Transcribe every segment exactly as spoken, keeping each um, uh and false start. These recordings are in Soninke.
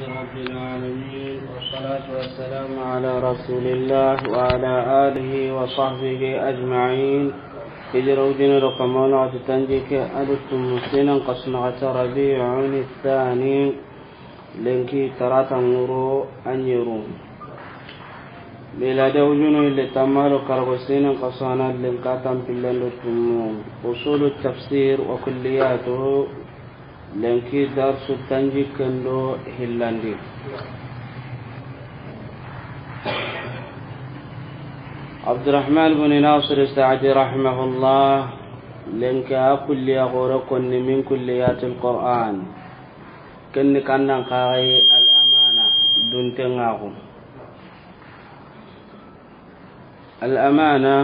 رب العالمين، والصلاة والسلام على رسول الله وعلى آله وصحبه أجمعين. Hijira wujine do kamana wati tanjikke a do tummu sinan xasu naxati Rabi'un Thani, lenki tarata ŋuro a ɲeru. Milade wujunu ille tamma do karago sinan xasu a na lenka tanpillen do tummu. Usulu tafsir wa kulliyatuhu, lenki darsu tanjikken do hillandi. Abdurrahman bin Nasir Sa'di rahimahullah, lenki a kulliya xore konni min kulliyatil Qur'an. Kenni kannan kaxay al amana, duntenŋaxu. Al amana,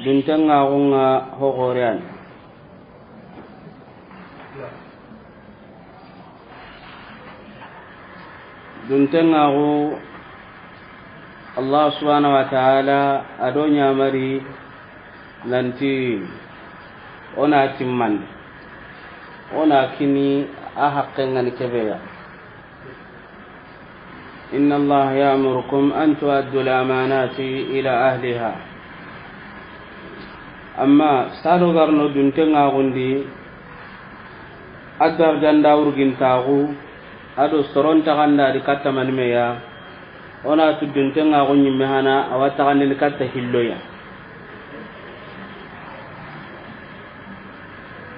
duntenŋaxunŋa ho xoreyan. Duntenŋaxu, Allah subhanahu wa ta'ala a do ɲamari nanti o na timmandi, o na kini a haqqen ŋa ni kebeya. إن الله يأمركم أن تؤدوا الأمانات إلى أهلها. Amma sado garno duntenŋaxundi, a darjanda wurgintaxu, a do soron taxanda di katta manimeya, o na tu duntenŋaxu ɲimme hana a wa taxandini katta hilloya.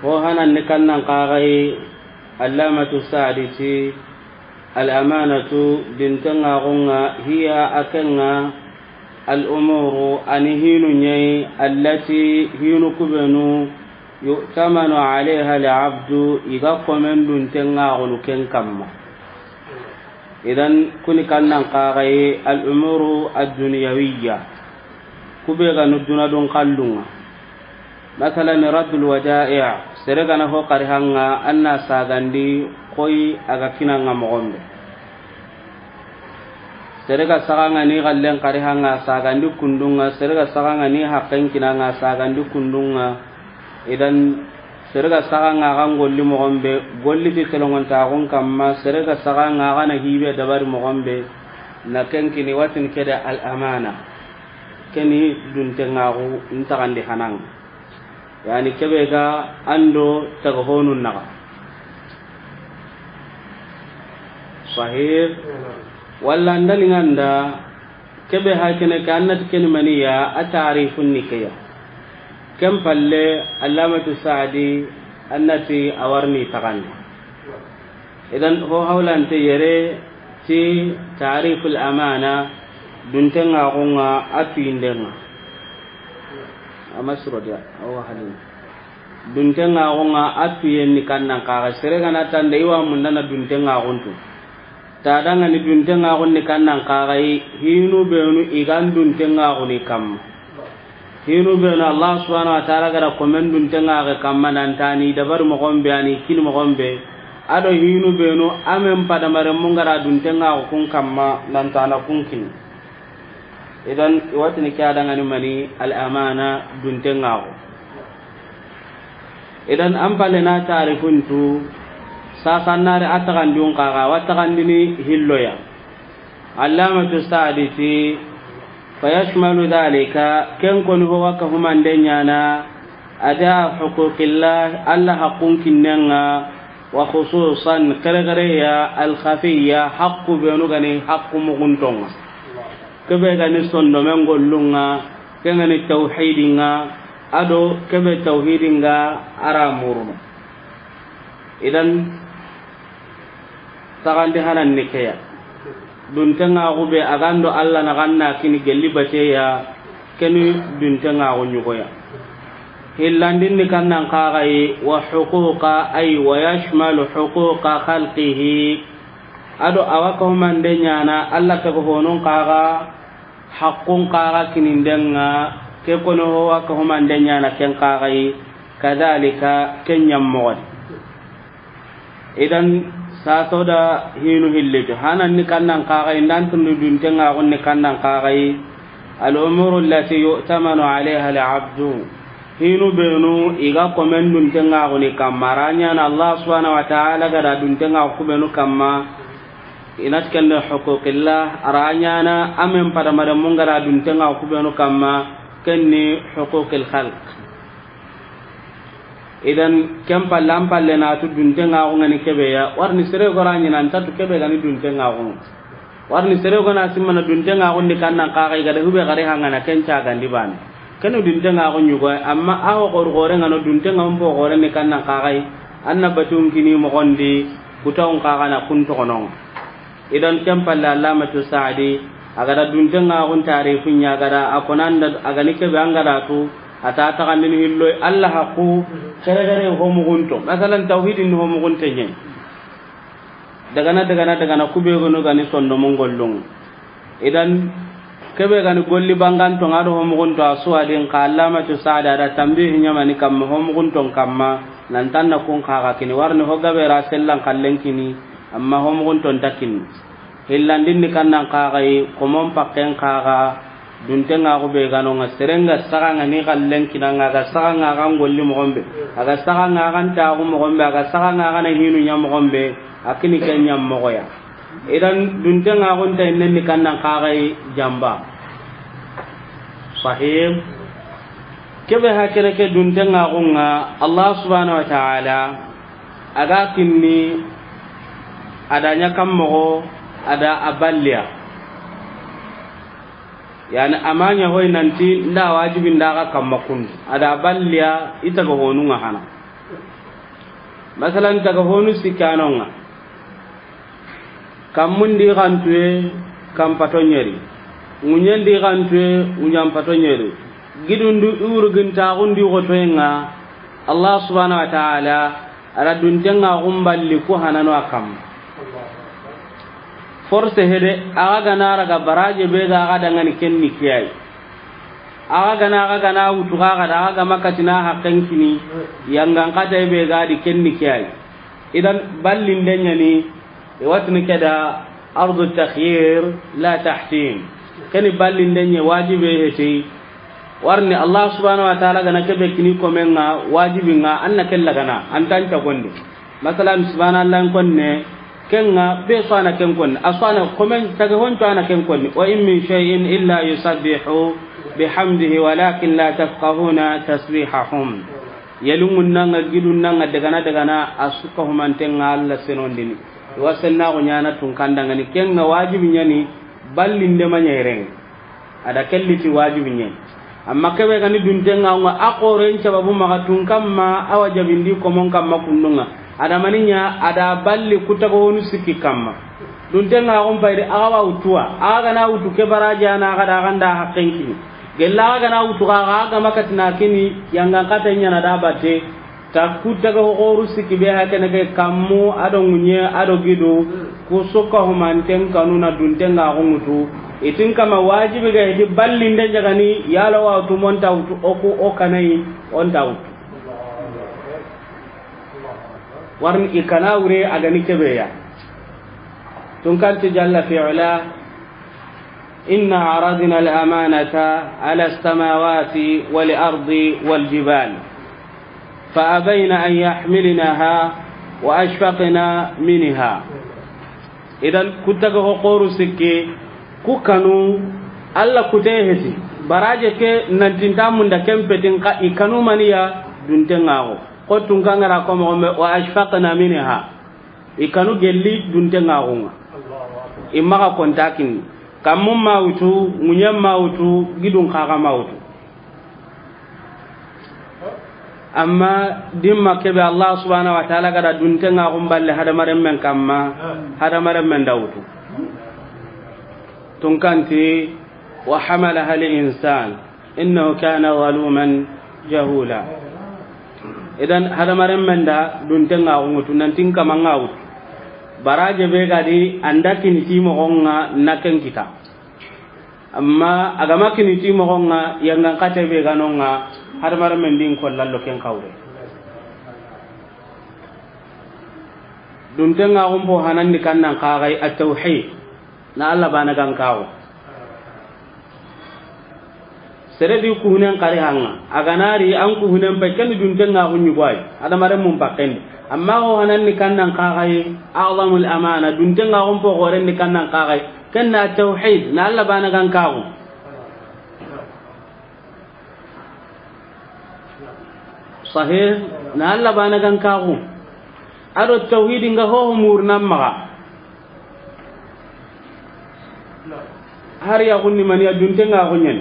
Ho hananni kannan kaxay, Allamatu Sa'di ti, الأمانة، duntenŋaxunŋa, هي، a kenŋa, الأمور، a ni hinu ɲa yi, التي، hinu kubenu, يؤتمن عليها العبد، i ga komen duntenŋaxunu ken kamma. Idan, kuni kannan kaxay, الأمور الدنيوية. Kube ga nu duna dun kallunŋa. Masalan, رد الودائع, sere ga na ho xari hanŋa, an na sagandi koy a ga kinanŋa moxon be. Sere ga saxanŋa ni xallen xari hanŋa, sagandi kundunŋa, sere ga saxanŋa ni haqqen kinanŋa, sagandi kundunŋa. Idan, sere ga saxanŋa a ga n golli moxon be, golli ti telongontaxun kamma, sere ga saxanŋa a ga na hibe dabari moxon be, na ken kini watin kede al amana. Keni duntenŋaxu n taxandi hananŋa. Yani kebe ga an do taga honun naxa. Sahih. Walla an da ni ŋa nda kebe hakene ke, an na ti keni maniya, a tarifun ni keya. Ken palle, Allamatu Sa'di, an na ti a wa ri ni taxandi. Idan, ho hawlante yere ti ta'riful amana, duntenŋaxunŋa a tuwindenŋa. A ma suro de, a wa halin. Duntenŋaxunŋa a tuwiyen ni kannan kaxay. Sere ga na tande i wa mundana duntenŋaxun tu. Tadanŋa ni duntenŋaxun ni kannan kaxay, hinu benu i ga n duntenŋaxu ni kamma. Hinu benu Allah subhanahu wa ta'ala ga da komen duntenŋaxe kamma nan ta ni dabari moxon be, a ni kini moxon be. A do hinu benu a men padamaren mun ga da duntenŋaxu kun kamma nan ta na kun kini. Idan, i wa tini ke a danŋa ni mani, al amana, duntenŋaxu. Idan, an palle na tarifun tu, sasan na ri a taxandun kaxa, a wa taxandini hilloya. Allamatu Sa'di ti, فيشمل ذلك، ken koni ho wa kahumande ɲana, أداء حقوق الله، Alla haqqun kinnenŋa, وخصوصا، kere kere ya, الخفية، haqqu benu ga ni haqqu muxuntonŋa. Kebe ga ni sondomen gollunŋa, ken ga ni tawhidinŋa, a do kebe tawhidinŋa a ra murunu. Idan, taxandi hanan ni keya. Duntenŋaxu be a ga n do Alla na xa na kini gelli bateya, keni duntenŋaxu ɲugoya. Hillandin ni kannan kaxay, وحقوق، أي ويشمل حقوق خلقه. A do a wa kahumande ɲana Alla taga honun kaxa, haqqun kaxa kinindenŋa, ke koni ho wa kahumande ɲana ken kaxay, كذلك، ken ɲammoxon. Idan, saso da hinu hillitu. Hanan ni kannan kaxay, ndan tundu duntenŋaxun ni kannan kaxay, الأمور التي يؤتمن عليها العبد. Hinu benu i ga komen duntenŋaxuni kamma, a ra ɲaana Allah subhanahu wa ta'ala ga da duntenŋaxu ku benu kamma, i na ti ken ni huquqillah, a ra ɲaana a men padamarenmun ga da duntenŋaxu ku benu kamma, ken ni huquqil khalq. Idan, ken palle, an palle na tu duntenŋaxu ŋa ni kebe ya, wari ni sere gora ɲi nan ta tu kebe ga ni duntenŋaxu. Wari ni sere gona simmana duntenŋaxun di kannan kaxa i ga da hube gari hangana ken cagandi bane. Kenu duntenŋaxu ɲugo, amma a ho xoru xore ŋa no duntenŋaxun po xore ni kannan kaxa i, an na batun kini moxon di, kutawun kaxa na kun toxonon. Idan ken palle Allamatu Saadi, a ga da duntenŋaxun tarifu ɲa ga da, a konanda a ga ni kebe an ga da tu, a ta taxandini hilloy, Allah haqqu, xere xere ho muxunto. Masalan, tawhidin ho muxunte ɲe. Dagana, dagana, dagana, kube gonu ga ni sondomun gollun. Idan, kebe ga ni golli banganto ŋa do ho muxunto a suwadin ka Allamatu Saadi a da tambihi ɲamani kamma, ho muxunton kamma, nan tanna kun kaxa kini. Wari ni ho gabe ra sellan kallen kini, amma ho muxunton ta kini. Hillandin ni kannan kaxa i, komon pakken kaxa, duntenŋaxu be ga no ŋa, seren ga saxa ŋa ni kallen kina ŋa, a ga saxa ŋa a ga n golli moxon be, a ga saxa ŋa a ga n taxu moxon be, a ga saxa ŋa a ga na hinu ɲa moxon be, a kini ken ɲa moxo ya. Idan duntenŋaxun ta innen ni kannan kaxa i jamba. Sahib. Kebe hakene ke duntenŋaxun ŋa, Allah subhanahu wa ta'ala, a ga kinni, a da ɲa kan moxo, a da a balliya. Yani, a ma ɲa hoy nanti nda wajibi nda ga kamma kun. A da balliya, i taga honu ŋa hana. Masalan, taga honu sikano ŋa. Kammun di xantuye, kan pato ɲeri. Ŋuɲen di xantuye, ŋuɲan pato ɲeri. Gidun di, i wurugintaxun di xotoyen ŋa, Allah subhanahu wa ta'ala, a da duntenŋaxun balli ku hanano a kamma. Force hede, a ga ga na raga baraje be ga a ga dangani ken ni kiyayi. A ga ga na, a ga ga na wutu ga a ga da, a ga ga ma katina haqqen kini, yangan kata be ga di ken ni kiyayi. Idan ballinde ɲa ni, i wa tini ke da ardu takhyir la tahtim. Keni ballinde ɲa wajibe heti. Wari ni Allah subhanahu wa ta'ala ga na kebe kini komen ŋa, wajibin ŋa, an na ken lagana, an ta n ta gondi. Masalan, subhanallah n konne, ken ŋa be su a na ken konni, a su a na komen tage hon su a na ken konni. Wa in min shay'in illa yusabbihu bihamdihi walakin la tafqahuna tasbihahum. Yelungun na ŋa, gidun na ŋa, dagana dagana, a su ka humanten ŋa Allah senondini. I wa sennaxu ɲana tun kandangani, ken ŋa wajibi ɲa ni, ballinde ma ɲa yere ŋa. A da kelli ti wajibi ɲa. Amma kebe ga ni duntenŋaxu ŋa, a xoren sababu maxa tun kamma, a wajabindi komon kamma kundun ŋa. A da mani ɲa, a da balli kutaga honu sikki kamma. Duntenŋaxun payidi, a ga wa wutuwa, a ga ga na wutu ke baraje a na a ga da a ga nda haqqen kini. Gella a ga ga na wutu ga a ga ma katina kini, yangan kata ɲa na da batte. Ta kutaga ho xoru sikki be hakene ke kammu, a do ŋuɲe, a do gidu, ku su ka humanten kanu na duntenŋaxu ŋutu. I tin kama wajibi ga heti ballinde ɲa ga ni, yalo wa wutu mo n ta wutu, o ku o kanayi, o n ta wutu. Wari ni i kana wure a ga ni kebe ya. Tun kan ti jalla fi ula, إنا عرضنا الأمانة على السماوات والأرض والجبال فأبين أن يحملنها وأشفقن منها. Idan, kutaga ho xoru sikki, ku kanu, Allah kute heti. Baraje ke nanti nta munda ken petin ka i kanu maniya duntenŋaxu. Ko tun kangara ko moxo me, wa ashfaqna minha. I kanu gelli duntenŋaxu ŋa. I maxa konta kinni. Kammun ma wutu, ŋuɲen ma wutu, gidun xa ga ma wutu. Amma dimma kebe Allah subhanahu wa ta'ala ga da duntenŋaxun balle hadamarenmen kamma, hadamarenmen da wutu. Tun kan ti, wa hamalaha al insan. إنه كان ظلوما جهولا. Idan, hadamarenmen da duntenŋaxu ŋutu, nanti n kaman ŋa wutu. Baraje be ga di, an da kini ti moxon ŋa na ken kita. Amma a ga ma kini ti moxon ŋa, yangan kate be ga no ŋa, hadamarenmen di n kollallo ken xawre. Duntenŋaxun po hanandi kannan kaxay at-tawhid. Na Allah bana gan kawo. Sere di kuhunen kari hanga. A ga na ri an kuhunen pe, ken ni dunten ŋa xu ɲi go ay. Hadamaren mun pakken di. Amma ho hanan ni kannan kaxaye, a'zamul amana, dunten ŋa xun po xoren ni kannan kaxaye. Ken na tawhid, na Alla bana gan kaxu. Sahih, na Alla bana gan kaxu. Ado tawhidi nga ho ho murnan maxa. Har ya gunni mani ya dunten ŋa xu ɲen.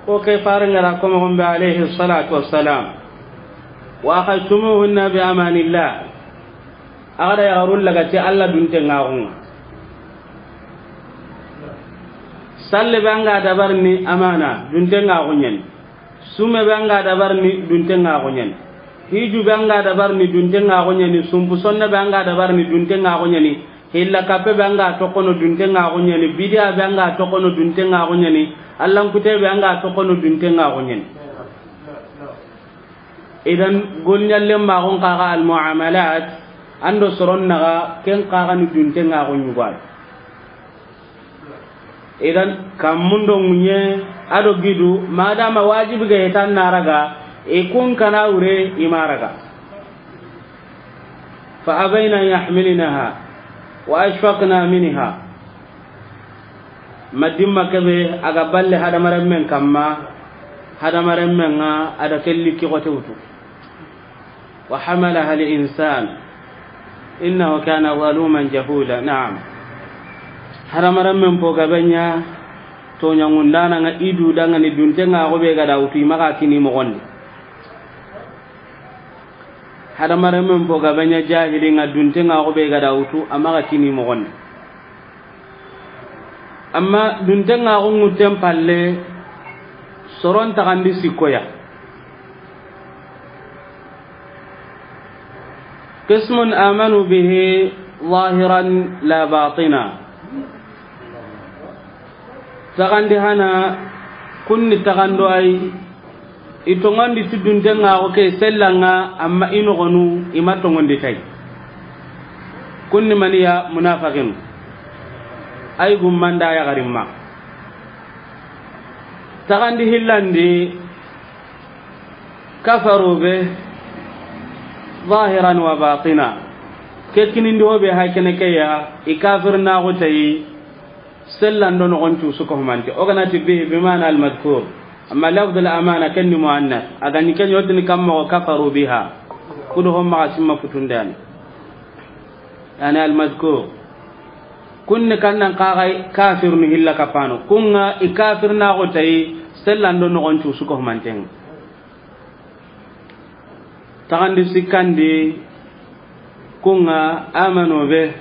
Ko ke faren ŋa ra ko mo gombe alayhi salatu wassalam. Wa akhadtumuhunna bi amanillah. A ga da yaxarun laga ti Alla dunten ŋa xu ŋa. Salle be an ga dabarini amana, dunten ŋa xu ɲen. Sume be an ga dabarini, dunten ŋa xu ɲen. Hiju be an ga dabarini, dunten ŋa xu ɲen. Sumpu sonne be an ga dabarini, dunten ŋa xu ɲen. Hilla kappe be an ga toxono, dunten ŋa xu ɲen. Bidiya be an ga toxono, dunten ŋa xu ɲen. Allankute be an ga toxono, dunten ŋa xu ɲen. Idan, golɲallen maxon kaxa almuamalat, an do soron naxa, ken kaxa ni dunten ŋa xu ɲi go ay. Idan, kammun do ŋuɲe, ado gidu, madama wajibi ga hetan na raga, i kun kana wure, i ma raga. Fa abayna an yahmilnaha, wa ashfaqna minha. Madimma kebe, a ga balle hadamaren men kamma, hadamaren men ŋa, a da kelli ki xote wutu. Wa hamalaha al-insan, innahu kana zaluman jahula. Naam. Hadamaren men po gabe ɲa, toɲangundana ŋa idu dangani dunten ŋa xo be ga da wutu, i maxa kini moxon di. Hadamaren men po gabe ɲa jahili ŋa dunten ŋa xo be ga da wutu, a maxa kini moxon di. Amma dunten ŋa xo ŋutten palle, soron taxandi sikkoya. Qismun amanu bihi zahiran la batina. Taxandi hana, kunni taxando ay, i toŋondi ti dunten ŋa xo ke sellan ŋa, amma i noxonu, i ma toŋondi tay. Kunni maniya munafaqinu. Ay gummanda yaxarimma. Taxandi hillandi, kafaru be, zahiran wa batina. Ke kinindi ho be hay kene ke ya, i kafir na xo tayi, sellan do noxon cu su ko humante. O ga na ti bihi bi ma'na al madhkur. Amma lafdul amana ken ni muannas. A ga ni ken yotini kamma ko kafaru biha. Kudo ho maxa simma futundani. Yani al madhkur. Kunni kannan kaxay kafirnu hilla kapano. Kun ŋa i kafir na xo tayi, sellan do noxon cu su ko humanten. Taxandi sikkandi, kun ŋa amano be,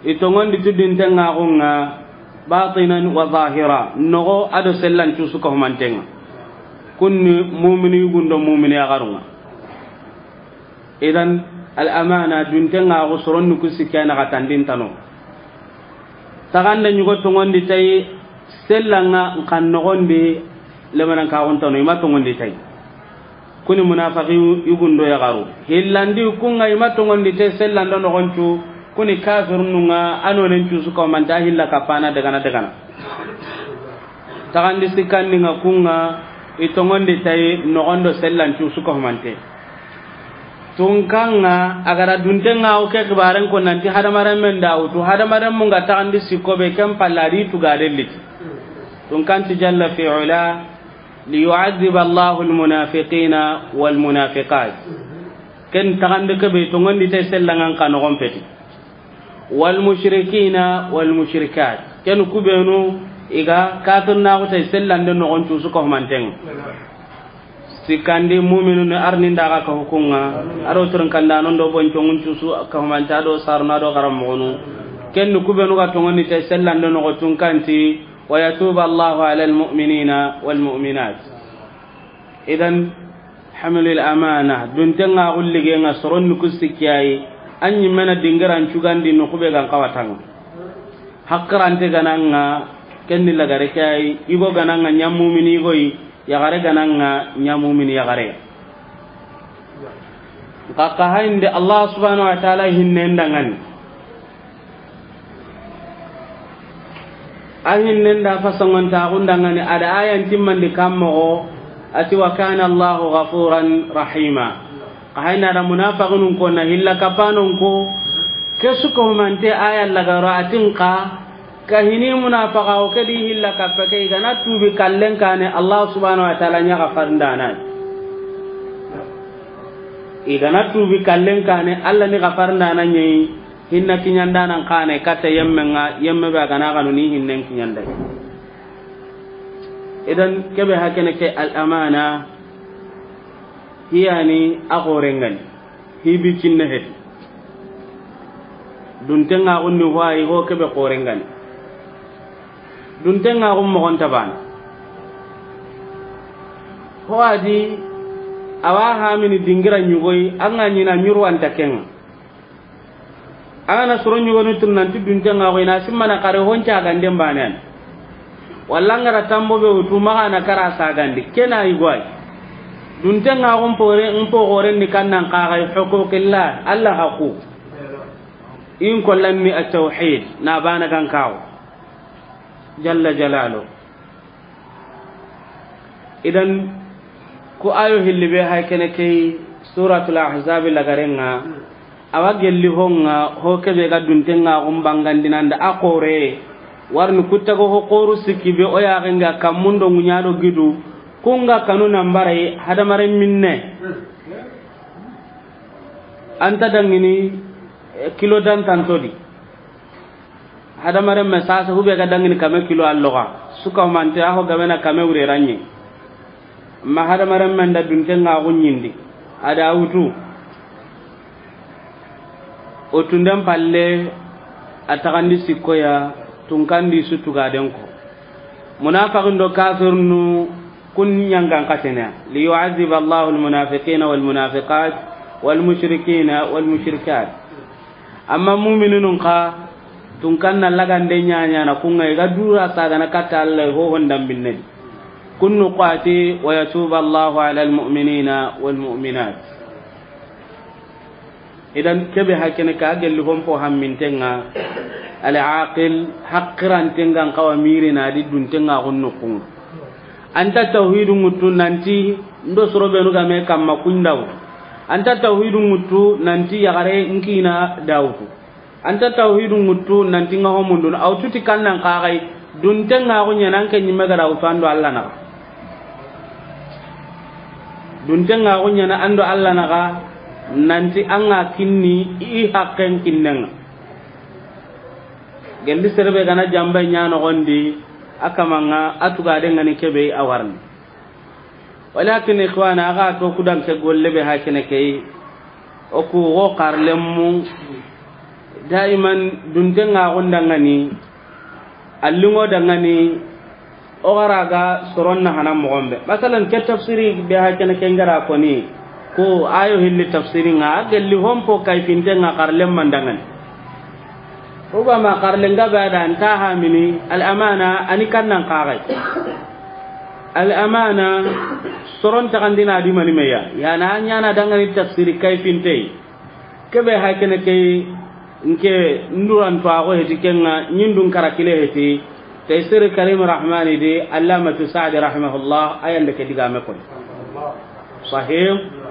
i toŋondi tu dunten ŋa xu ŋa, batinan wa zahira, noxo ado sellan cu su ko humanten ŋa. Kunni mumini yugun do mumini yaxarun ŋa. Idan, al amana, dunten ŋa xo soron ni ku sikki a naxa tandin tano. Taxanda ɲugo toŋondi tayi, sellan ŋa nkan noxon di, lemanan kaxun tano, i ma toŋondi tayi. Kuni munafaqi yugun do yaxaru. Hillandi kun ŋa i ma toŋondi tayi, sellan do noxon cu, kuni kafirnu ŋa, a nonen cu su ko manta hilla kapana dagana dagana. Taxandi sikkandi ŋa kun ŋa, i toŋondi tayi noxon do sellan cu su ko humante. Tunkan ŋa, a ga ra dunten ŋa o ke xibaren ko nanti hadamaren men da wutu, hadamaren mun ga taxandi sikko be ken palla di tuga de liti. Tunkan ti jalla fi ula, li yu'adhiba Allahu al munafiqina wal munafiqat. Ken taxandi ke be toŋondi tayi sellan ŋa nka noxon peti. Wal mushrikina wal mushrikat. Ken kubenu i ga kafir na xo tayi sellan do noxon cu su ko humanten. Sikkandi muminu ni arni ndaga ka hukunga. Aro turun kanda non do bon tongun cu su ka humanta do sarna do garam monu. Ken kubenu ga toŋondi tayi sellan do noxo tunkanti. Wa yatuba Allahu ala al mu'minina wal mu'minat. Idan, hamilul amana, dunten ŋa xullige ŋa soron ni ku sikki ayi, an ɲi mena dingiran cugandi no kube gan kawatanga. Hakkarante gananga, kenni lagare ke ayi, igo gananga ɲa mumini igo yi, yaxare gananga ɲa mumini yaxare. Nka ka hayinde Allah subhanahu wa ta'ala hinnen dangani. A hinnen da fasongontaxun dangani, a da ayan timmandi kan moxo, a ti, "Wa kana Allahu ghafuran rahima." Xa hayna da munafiqinun ko na hilla kapanon ko, ke su ko mante aya lagaro a tin xa, ka hini munafiqa o ke di hilla kape ke, i ga na tubi kallen kane, Allah subhanahu wa ta'ala ɲa gafarindana. I ga na tubi kallen kane, Allah ni gafarindana ɲa yi. Hinna kiɲandanan kane katta yemmen ŋa, yemme be a ga na xanu ni hinnen kiɲanday. Idan kebe hakene ke al amana, hiyani a xorengani, hibi cinne heti. Duntenŋaxun ni hoayi ho kebe xorengani. Duntenŋaxun moxon tabana. Ho a di, awa hamini dingira ɲugoyi, an ga ɲina ɲurwanta kenŋa. An ga na soro ɲugonu tun nanti duntenŋaxu i na simmana xare hon caganden banean. Walla an ga ra tambo be wutu maxa na kara sagandi kena yigoyi. Duntenŋaxu n pore n po xoren ni kannan xaxay huquqillah, Allah haqu. In kollan ni at-tawhid na bana gan kawo. Jalla jalalu. Idan ku ayo hilli be hay kene key suratul ahzab lagarenŋa, awa gelli honŋa ho kebe ga duntenŋaxun bangandinanda a xore. Warni kuttago ho xoru sikki be o yaxenga kammundo ŋuɲado gidu, kunga kanu nambaray hadamaren minne. Anta dangini, eh, kilo dantantodi. Hadamaren me sasa hube ga dangini kame kilo alloga. Suka humante aho gamena kame wure ranye. Ma hadamaren men da duntenŋaxu ɲindi. A da wutu. O tunden palle a taxandi sikkoya tunkandi su tugaden ko. Munafiqin do kafirnu kun ɲangan xatene. Liyu'adhiba Allahu al-munafiqina wal-munafiqat wal-mushrikina wal-mushrikat. Amma mu'minunun xa, tunkan na lagande ɲaɲana kunŋa i ga dura sagana katta Allah ho hondambinnedi. Kunnu qati wa yatuba Allahu ala al-mu'minina wal-mu'minat. Idan kebe hakene ka gelli hompo hammintenŋa. Al-aqil haqqirantenŋan xawa mirina di duntenŋaxun nukunŋa. Anta tawhidu ŋuttu nanti ndo soro benu game kamma kundaw. Anta tawhidu ŋuttu nanti yaxare nkina dawutu. Anta tawhidu ŋuttu nanti ŋa homundun awtuti kannan xaxay. Duntenŋaxu ɲana an ke ɲimme gada wutu ando Allah naxa. Duntenŋaxu ɲana ando Allah naxa. Nanti an ga kinni i haqqen kinnenŋa. Gelli serebe gana jamba ɲa noxondi a kamanŋa a tugaden ŋani kebe a warni. Walakin ikhwana, aga to kudan ke golle be hakene key. O ku go xarlemmu daiman duntenŋaxun dangani, allingo dangani, o xara ga soronna hana moxon be. Masalan ke tafsiri be hakene ke ngara koni, ko ayo hilli tafsirinŋa a gelli hompo kayfintenŋa xarlemman dangani. Rubama xarlenga be a da nta hamini al amana ani kannan xaxay. Al amana soron taxandina di mani meya yana a ɲana dangani tafsiri kayfintey. Kebe hakene key nke nduranto axo heti kenŋa ɲindun karakile heti. Taysir Karim Rahmani di Allamatu Saadi rahimahullah ayande ke digame koy. Sahih.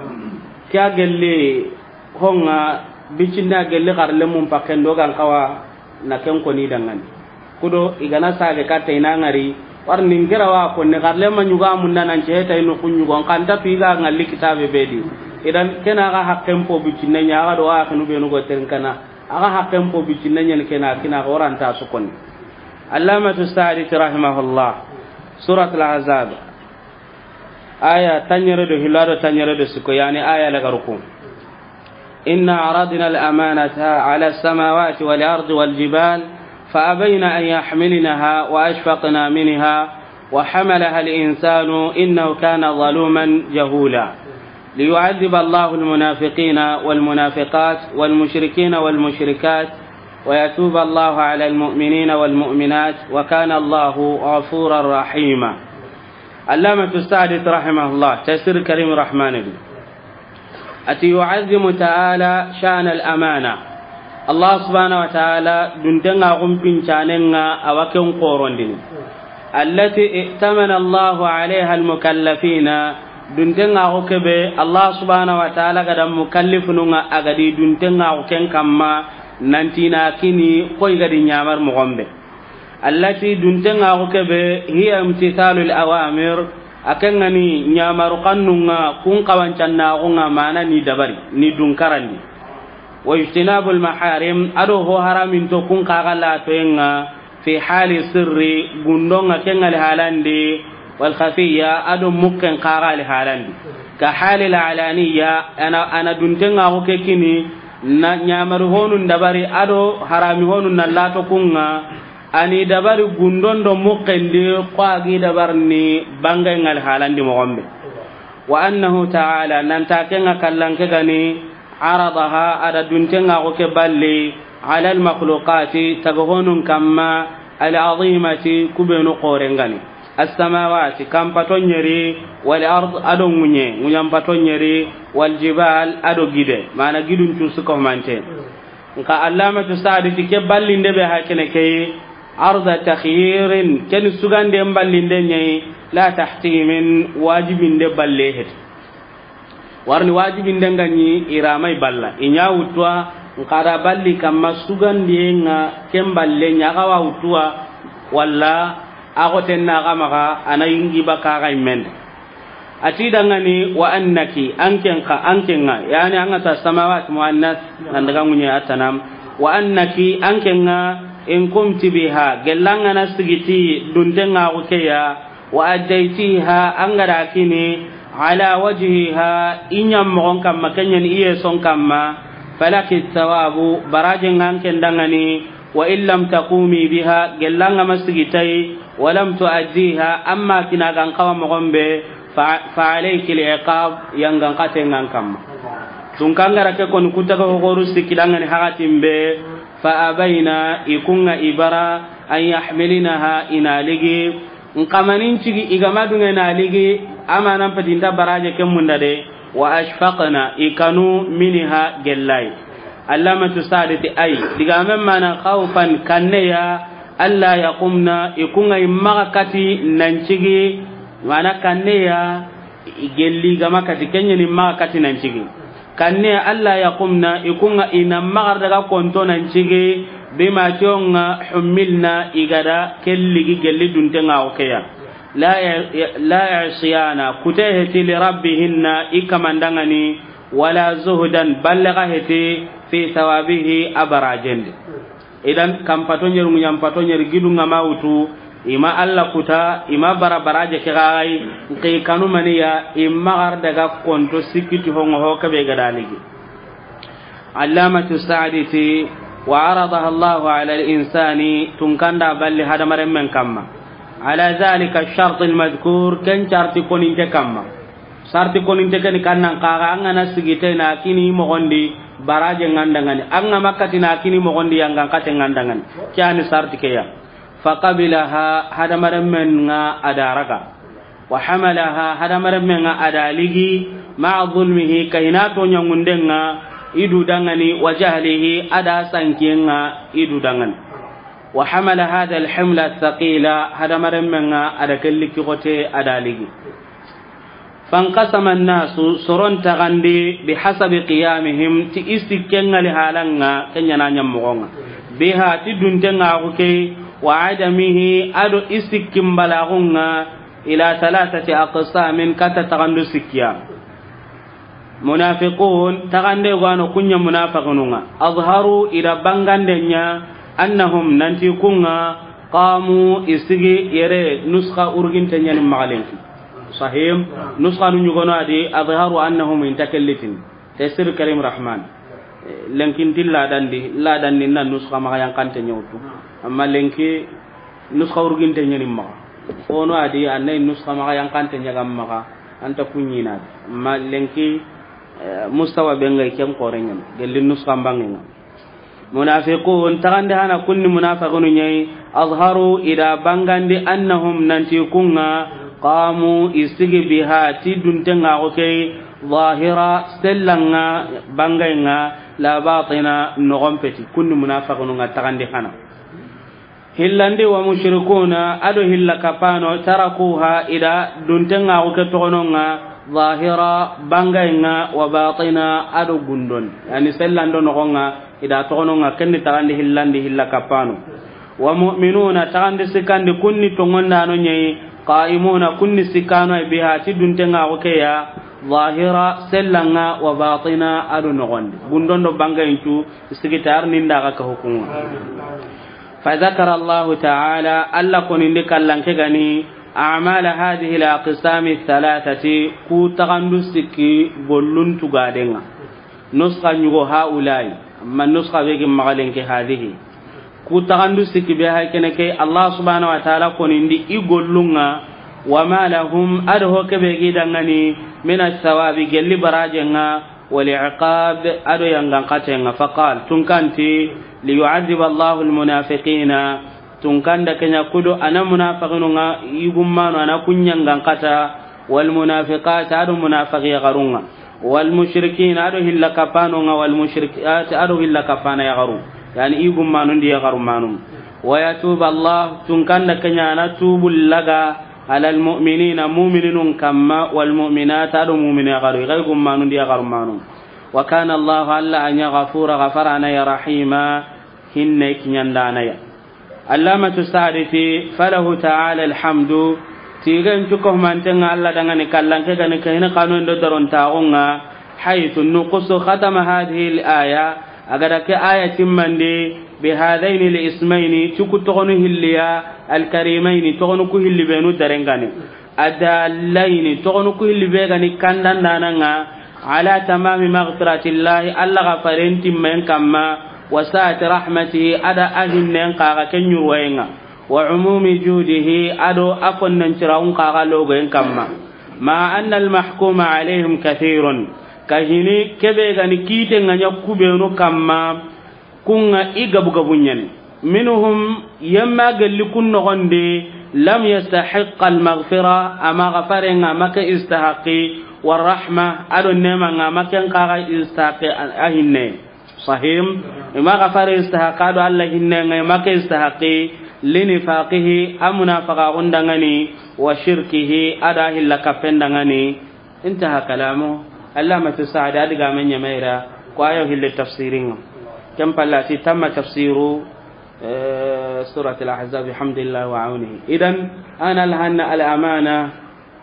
Ke a gelli honŋa bicinna gelli xarlemmun pakken do gan xawa na ken koni dangani. Kudo i gana sage katta i na ŋari warni nkera wa konni xarlemma ɲuga munda nan ceheta i noxu ɲugo n xanta tu i ga ŋalli kitabe be di. Idan kena ga haqqen po bicinne ɲa ga do wa xinu benu go terinkana. Aga haqqen po bicinne ɲani kena kina ga waranta su konni. Allamatu Saadi rahimahullah. Suratul Ahzab. Aya tanɲere do hilla do tanɲere do siko yani aya lagaruku. Inna aradna al-amanata ala as-samawati wal ardi wal jibal fa abayna an yahmilnaha wa ashfaqna minha wa hamalaha al-insanu innahu kana zaluman jahula. Liyu'adhdhiba Allahu al-munafiqina wal munafiqat wal mushrikina wal mushrikat wa yatuba Allahu ala al-mu'minina wal mu'minat wa kana Allahu ghafuran rahima. Allamatu Saadi rahimahullah, Taysir Karim Rahmani di. Ati yu'azzimu ta'ala sha'na al-amana. Allah subhanahu wa ta'ala duntenŋa xun pincanenŋa a wa ken xorondini. Allati i'tamana Allahu alayha al-mukallafina, duntenŋa xo kebe Allah subhanahu wa ta'ala ga da mukallifununŋa a ga di duntenŋa xo ken kamma nanti na kini koy ga di ɲamar moxon be. Allati duntenŋa xo kebe hiya imtithalul awamir, a ken ŋa ni ɲamaru xannunŋa kun xawancannaxunŋa mana ni dabari ni dunkarandi. Wa ijtinabul maharim, ado ho haramin to kun xaxa latoyenŋa fi hali sirri, gundonŋa ken ŋa li halandi, wal khafiya, ado mukken xaxa li halandi. Ka hali la alaniya, ana, ana duntenŋa xo ke kini, na ɲamari honun dabari, ado harami honun na lato kunŋa, ani dabari gundon do mukken di, ko a gi dabar ni bangenŋa li halandi moxon be. Wa annahu ta'ala, nanta ken ŋa kallanke gani, aradaha, a da duntenŋa xo ke balli, ala al-makhluqati, taga honun kamma, al-azimati, kubenu xorengani, as-samawati, kanpato ɲeri, wal ard, ado ŋuɲe, ŋuɲanpato ɲeri, wal jibal, ado gide, mana gidun cusu ko mante. Nka Allamatu Sa'di ti ke ballinde be ha kene ke, arda takhyirin, ken sugande ballinde ɲayi, la tahtimin, wajibinde balle heti. Warni wajibinde nga ɲi iramai balla. I ɲa wuttuwa, nka da balli kamma sugandiye nga ken balle ɲa ga wa wuttuwa, walla a go tenna ga maga, a na yingi baka ga imende. A ti dangani, wa annaki, anken ka, anken nga, yani an ga ta samawat muannas, nan daga ŋuɲe atanam. Wa annaki, anken nga, in kumti biha, gellanga na sigiti, duntenga ku keya, wa addaytiha, an ga da kini, ala wajhiha, i ɲammoxon kamma, ken ɲa ni i yeson kamma, falaki thawabu, barajen nga anken dangani, wa in lam takumi biha, gellanga ma sigitayi, wa lam tuaddiha, amma kina gan kawa moxon be, fa, fa alayki al-iqab, yangan katen nga an kamma. Tunkangara ke koni kutaga hogoru sikki dangani hakatin be, fa abayna, i kunga i bara, an yahmilnaha, i na ligi, N kamanin cigi i ga ma dunge na ligi, amanan peti nta baraje ke munda de, wa ashfaqna, i kanu minha gellai. Allamatu Sa'di ti ay, digamen mana khawfan kanneya, alla yaqumna, i kunga i maga kati nan cigi, mana kanneya, i gelli ga ma kati, ken ɲa ni maga kati nan cigi. Kanne alla yaqumna, i kunga i na magar daga konto nan cigi, bima tionga hummilna, i ga da ke ligi gelli duntenga o keya. La, la isyana, kute heti li rabbihinna, i kaman dangani, wala zuhdan, balle ga heti, fi thawabihi, a barajen di. Idan, kan pato ɲeri, ŋuɲan pato ɲeri, gidu nga ma wutu, i ma alla kuta, i ma bara baraje ke gagai, nki kanu maniya, i magar daga konto sikiti hongo ho kebe ga da ligi. Allamatu Sa'di ti, wa aradaha Allahu ala al-insani, tunkanda balli hadamaren men kamma. Ala dhalika ash-shart al-madhkur, ken carti koninte kamma. Sarti koninte keni kannan kaga, an ga na sigite na kini mogondi, baraje nga ndangani. An ga makkati na kini mogondi, yangan kate nga ndangani. Ke yani sarti keya. Faqabilaha, hadamaren men nga a da raga. Wa hamalaha, hadamaren men nga a da ligi, ma'a zulmihi, kahina to ɲangundenga, i du dangani, wa jahlihi, a da sankiyenga, i du dangani. Wa hamala hadha al-himla ath-thaqila, hadamaren men nga a da ke liki gote a da ligi. Fanqasama an-nasu, soron tagandi, bihasabi qiyamihim, ti i sikkenga li halanga, ken ɲa na ɲammogonga. Biha, ti duntenga ku ke, wa adamihi, a do i sikkin balagunga, ila thalathati aqsamin, kata tagandu sikkiya. Munafiqun, tagande gano kunya munafiqununga. Azharu, i da bangande ɲa, annahum, nanti kunga, qamu, i sigi yere, nuskha urginte ɲa ni maxa lenki. Sahim, nuskha nu ɲugono a di, azharu annahum, inta ke litin. Tafsir Karim Rahman. Eh, lenkin ti ladandi, ladandi na nuskha maxa yankante ɲa wutu. Amma lenki, nuskha urginte ɲa ni maxa. Ono a di, annay nuskha maxa yankante ɲa ga maxa, anta kuɲina. Amma lenki, eh, mustawa be ngay ken kore ɲa ni. Gelli nuskha mbangenga. Munafiqun, tagande hana kunni munafiqunu ɲayi, azharu, i da bangandi annahum, nanti kunga, qamu, i sigi biha, ti duntenga ko key, Zahira, sellanga, bangainga, la batina, nogon peti, kunni munafiqinu nga taxandi xana. Hillandi wa mushrikuna, ado hilla kapano, tarakuha, ida duntenga ke toxononga, zahira, bangainga, wa batina, ado gundon. Yani sellando nogonga, ida toxononga, kenni taxandi hillandi hilla kapano. Wa mu'minuna, taxandi sikkandi kunni tongondano ñayi, qa'imuna, kunni sikkano ay biha, ti duntenga ke ya, zahira, sellanga, wa batina, ado nogondi. Gundon do bangaincu, sigitar ninda ga ka hukunga. Fa zakara Allahu ta'ala, Allah konindi kallanke gani, a'mala hadhihi al-aqsami thalathati, ku taxandu sikki gollun tugadenga. Nuskha ñugo haulai, amma nuskha be gi maxalenke hadhihi. Ku taxandu sikki be hay kene ke, Allah subhanahu wa ta'ala konindi i gollunga, wa ma lahum, ado ho kebe gi dangani, min as-sawabi, gelli barajenga, wal iqab, ado yangan xatenga. Fa qal, tunkanti, li yu'adhiba Allahu al-munafiqina, tunkanda kenya kudo ana munafiqinunga, igummano ana kunyangan xata, wal munafiqat, ado munafiqi garunga. Wal mushrikin, ado hilla kapano nga, wal mushrikat, ado hilla kapana yagaru. Yani, i gummanundi yagaru manum. Wa yatuba Allah, tunkanda kenyana tubu laga, ala al mu'minina, mu'mininun kamma, wal mu'minat, ado mu'mini yagaru. Igai gummanundi yagaru manum. Wa kana Allah, Allah anya ghafura, ghafarana ya rahima, hinne kinyandana ya. Allamatu Sa'di ti, falahu ta'ala alhamdu, tigen cuko mantenga Allah dangani kallanke gani kahini kanu ndo daron tagunga, haythu nuqusu khatama hadhihi al-aya, agada ke aya timmandi, bi hadhaini al-ismaini, cuku togonu hilliya, al-karimaini, togonu ku hilli benu darengani. Adallayni, togonu ku hilli be gani kandandananga, ala tamami maghfiratillahi, Allah gafaren timmen kamma, wa sa'ati rahmatihi, ada ahinnen kaga ke ñurwayenga, wa umumi judihi, ado a fonnen cirawun kaga logoyen kamma. Ma anna al mahkuma alayhim kathirun, kahini kebe gani kite nga ña kubenu kamma, kunga i gabu gabu ñani. Minhum, yemma gelli kun nogondi, lam yastahiqqa al maghfira, ama gafarenga make istahaqi, wa rahma, ado nemanga make kaga istahaqi a hinne. Sahim, ima gafare istahaqi, ado Allah hinnenga make istahaqi, linifaqihi, a munafaqa gundangani, wa shirkihi, ada hilla kapendangani. Intaha kalamu. Allamatu Sa'di a digamen ñamayra ko ayo hille tafsiringa. Ken pallati tamma tafsiru, eh, surat al-Ahzab, bihamdillah wa aunihi. Idan, ana alhanna al-amana,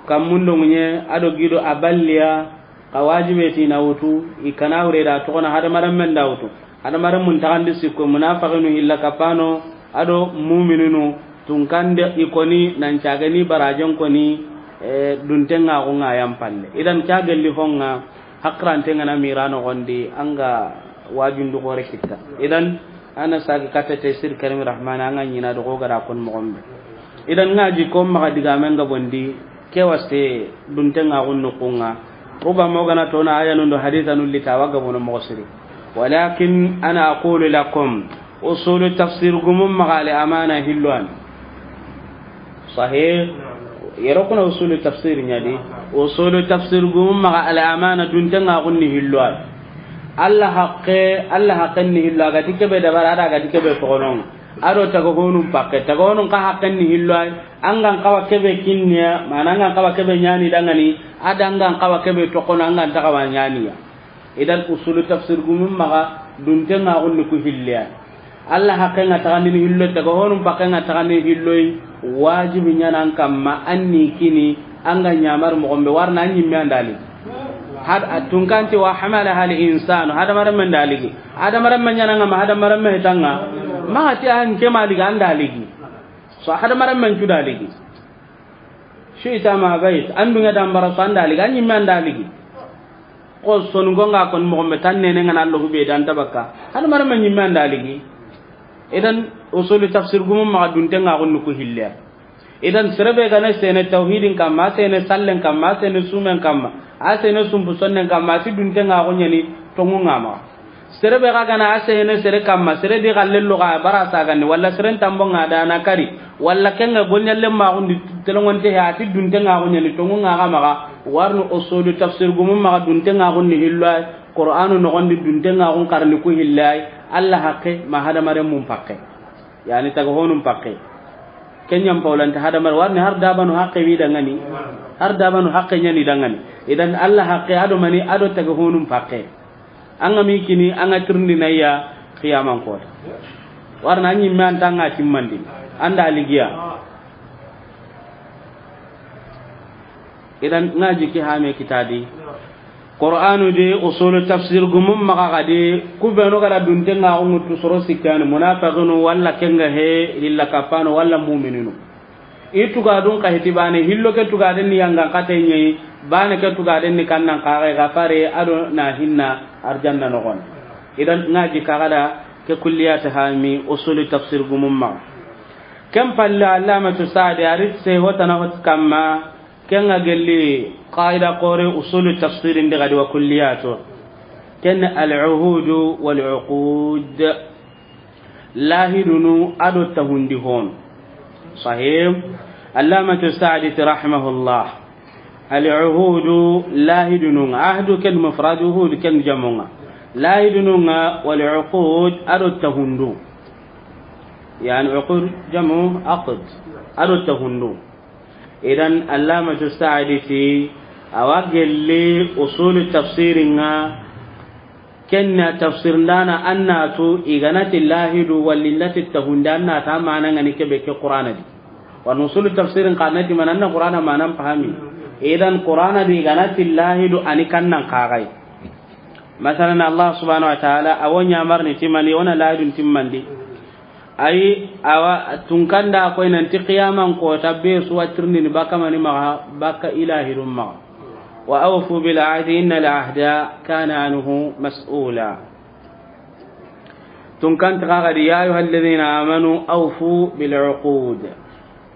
kammundo ŋuñe, ado gido a balliya, ka wajibe ti na wutu, i kana wure da togona hadamaren men da wutu. Hadamaren mun taxandi sikko, munafaqinu hilla kapano, ado mumininu, tunkande i koni, nan cagani barajen koni, eh, duntenga xunga yan palle. Idan ca gelli honga, hakrante ngana mira nogondi, anga wajundu gore kitta. Idan, ana sagi katta Tafsir Karim Rahman, anga ñina do gogara kon mogombe. Idan ngaji ko maxa digamenga bondi, ke waste duntenga xunnu kunga. Ruba mogana tona aya nundo haditha nulli tawaga bono moxo siri. Walakin ana aqulu lakum, usulu tafsir gumum maxa al amana hilwan. Sahih. Yero kuna usulu tafsir ñadi. Usulu tafsir gumum maxa al amana duntenga xunni hilwan. Allah haqqe, Allah haqqen ni hillo, agati kebe dabara, ada agati kebe toxonon. Ado taga honun pakke, taga honun ka haqqen ni hillo ay, angan kawa kebe kinniya, mana angan kawa kebe ñani dangani, ada angan kawa kebe toxono, angan taga wa ñaniya. Idan usulu tafsir gumun maxa, duntenga xunni ku hilliya. Allah haqqenga taxandini hillo, taga honun paqqenga taxandini hilloy, wajibi ñanan kamma, anni kini, anga ñamar moxombe warna, an ñimme andali. Had, a tunkanti wa hamala hal insanu, hadamaren men daligi. Hadamaren men ñananga ma, hadamaren men hitanga. Maxa ti an ke maligi, andaligi. So hadamaren men cu daligi. Shi'ta ma bait, an dunga dambara so andaligi, an ñimme andaligi. Ko sonu gonga kon moxombe tan nene ngana Allahu be dan tabakka. Hadamaren men ñimme andaligi. Idan usulu tafsir gumun maxa duntenga xunni ku hille. Idan serebe gana sene tawhidin kamma, sene sallen kamma, sene sumen kamma, a sene sumpu sonnen kamma, si duntenga xo ñani tongunga maxa. Serebe ga gana a sene sere kamma, sere di xallello ga bara sagandi, walla seren tambonga dana kari, walla kenga golñallen maxundi telongonte he, ati duntenga xo ñani tongunga ga maxa. Warni usulu tafsir gumun maxa duntenŋaxun ni hillo ay, Qur'anu noxondi duntenŋaxun xarni ku hillo ay, Alla haqqe ma hadamaren mun paqqe. Yani taga honun paqqe. Kenyan paulanta hadamar warni har dabanu haqqe wi dangani. Har dabanu haqqe nyani dangani. Idan Alla haqqe ado mani ado taga honun paqqe. An ga mi kini an ga tirindi na ya qiyaman kota. Warna an yimme an tanga timmandi. An da ligiya. Idan ŋa jiki hame kitadi. Qur'anu de usulu tafsir gumum maxa gadi. Ku benu gara duntenŋaxun ŋutu soro sikkani munafiqinu walla kenga he lilla kapano walla mu'mininu. I tugadun ka hiti bane hillo ke tugaden ni yangan kate ɲeyi, bane ke tugaden ni kannan kaxe gafare ado na hinna arjanna noxon. Idan ŋa jika gada ke kulliyata hami usulu tafsir gumum maxa. Ken palle Allamatu Sa'di ari se hotana hot kamma, ken ga gelli qaida qore usulu tafsir ndi gadi wa kulliyato. Ken al-uhudu wal-uqud. Lahidunu ado tahundi hon. Sahih. Allamatu Sa'di rahimahullah. Al-uhudu lahidununga. Ahdu ken mufrad, uhud ken jamunga. Lahidununga wal-uqud ado tahundu. Yani uqud jamu aqd. Ado tahundu. Idan Allamatu Sa'di ti awa gelli usulu tafsiringa. Kenna tafsir ndana annatu iganati lahidu wallindati tahunde annata mana ngani kebe ke Qur'ana di. Wa nusulu tafsirin kanati mananna Qur'ana manan pahami. Idan Qur'ana di iganati lahidu ani kannan kagai. Masalan Allah subhanahu wa ta'ala awonya marni timani ona lahidun timmandi. Ayi, awa tunkanda koy nanti qiyaman kota be su wa tirindini baka mani maxa, baka ilahidun maxa. Wa awfu bil ahdi inna al ahda kana anhu mas'ula. Tunkanti xa gadi ya ayuha alladhina amanu awfu bil uqud.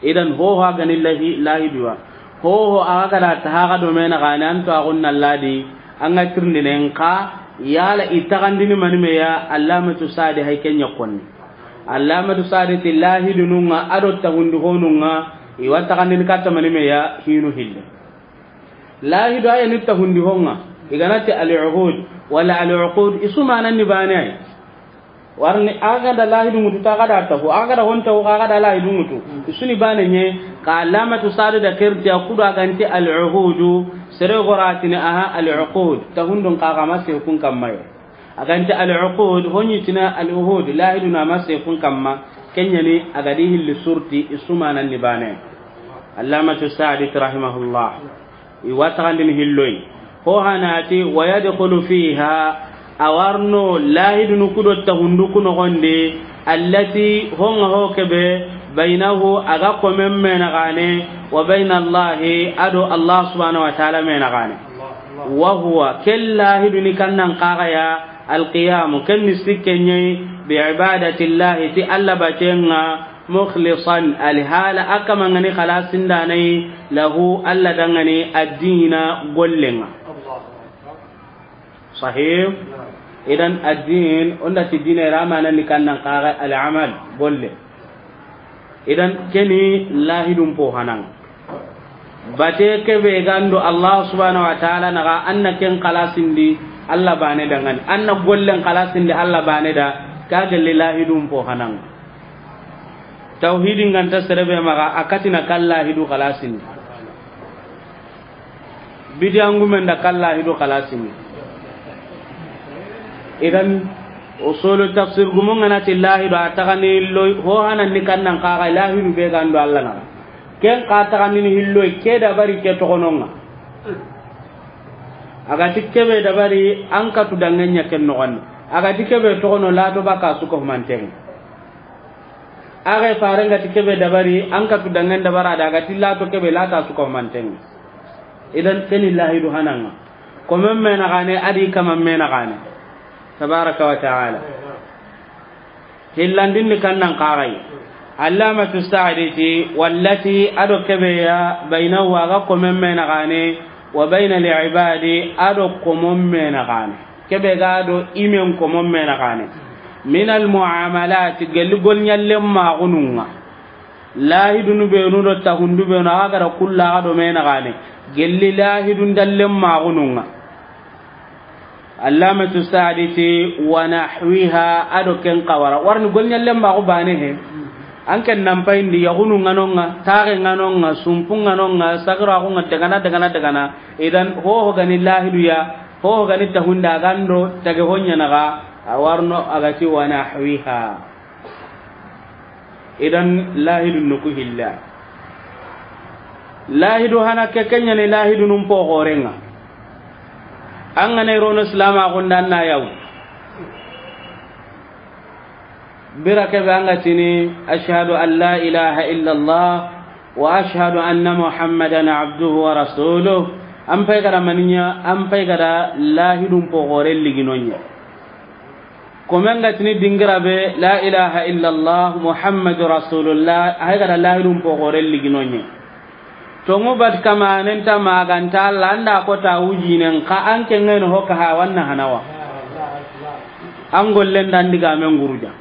Idan hoho a gani lahi lahiduwa. Hoho a ga gada ta haga do mena gani anto a gunna ladi. An ga tirindinen ka yala i taxandini mani meya Allamatu Sa'di hay kenya konni. Allamatu Sa'di ti lahidununga ado taxundi honunga i wa taxandini katta mani meya hinu hille. Lahidu aya ni taxundi honga iganati al-uhud wala al-uqud isu mananni bane ay. Warni a ga da lahidu ŋutu ta ga da taxu a ga da hon taxu a ga da lahidu ŋutu. Isuni bane nye ka Allamatu Sa'di da kerti a kudu a ganti al-uhudu sere goratini aha al-uqud tahundun ka ga ma se kun kammayo. A ganti al-uqud honyi tina al-uhud lahidu na ma se kun kamma. Kenyani a ga di hilli surti isu mananni bane. Allamatu Sa'di rahimahullah. I wa taxandini hilloy. Ho hanati wa yadkhulu fiha. A warno lahidunu kudo tahundu ku noxondi. Allati honga ho kebe baynahu a ga komen mena gane wa bayna Allahi ado Allah subhanahu wa ta'ala mena gane. Wa huwa ken lahiduni kannan kaxaya alqiyamu ken ni sikke ɲeyi bi ibadatillahi ti Allah batenga. Mukhlisan, alhala a kamangani xalasindanai lahu, Allah dangani addina gollenga. Sahih. Idan addin onda ti dina ira manani kannan kaga al-amal golle. Idan keni lahidun po hanan. Bate kebe gando Allah subhanahu wa ta'ala naga anna ken xalasindi Allah bane dangani anna gollen xalasindi Allah bane da. Ka gelli lahidun po hanan. Tawhidin ganta serebe maga a katina kan lahidu xalasindi. Bidiyangumen da kan lahidu xalasindi. Idan usulu tafsir gumun ganati lahidu a taxani loy ho hanan ni kannan kaga lahidu be gando Allah naga. Ken ka taxandini hilloy ke dabari ke toxononga. Agati kebe dabari an katu dangenya ken noxon. Agati kebe toxono lato baka suko manten. Aga farenga ti kebe dabari an katu dangen dabara da agati lato kebe lata suko manten. Idan keni lahidu hananga. Komen mena gane adi kaman mena gane. Tabaraka wa ta'ala. Hillandin ni kannan kagai. Allamatu Sa'di ti wallati ado kebe ya bainahu aga komen mena gane wa baina al-ibadi ado komon mena gane. Kebe ga do imen komon mena gane. Min al-mu'amalat gelli gol nyallen magununga. Lahidunu benu do tahundu benu, a ga da kulla, a ga do me na gane. Gelli lahidun dallen maxunun ŋa. Allamatu Saadi ti, "Wa nahwiha," a do ken xawara. Warni golɲallen maxu bane he. An ken nan payindi, yaxunu ŋa no ŋa, taxe ŋa no ŋa, sumpu ŋa no ŋa, sagira xu ŋa, dagana, dagana, dagana. Idan, hoho gani lahidu ya, hoho gani tahunda gando, tage hoɲa naxa, a warno a ga ti, "Wa nahwiha." Idan lahidu nuku hilla. Lahidu hana ke, ken ɲa ni lahidunun poxoren ŋa. An ga na i rono silama xunda na yawu. Bira kebe an ga tini, "Ashhadu an la ilaha illallah wa ashhadu anna Muhammadan abduhu wa rasuluh." An pay ga da maniɲa, an pay ga da lahidun poxoren liginoɲa. Komen ga tini dingira be, "La ilaha illallah Muhammadu Rasulullah," a ga da lahidun poxoren liginoɲa. Tongu bat kamanen ta maganta Alla, an da ko ta wujinen ka, an ke ŋen ho ka ha wanna hanawa. An gollen dan digamen guruja.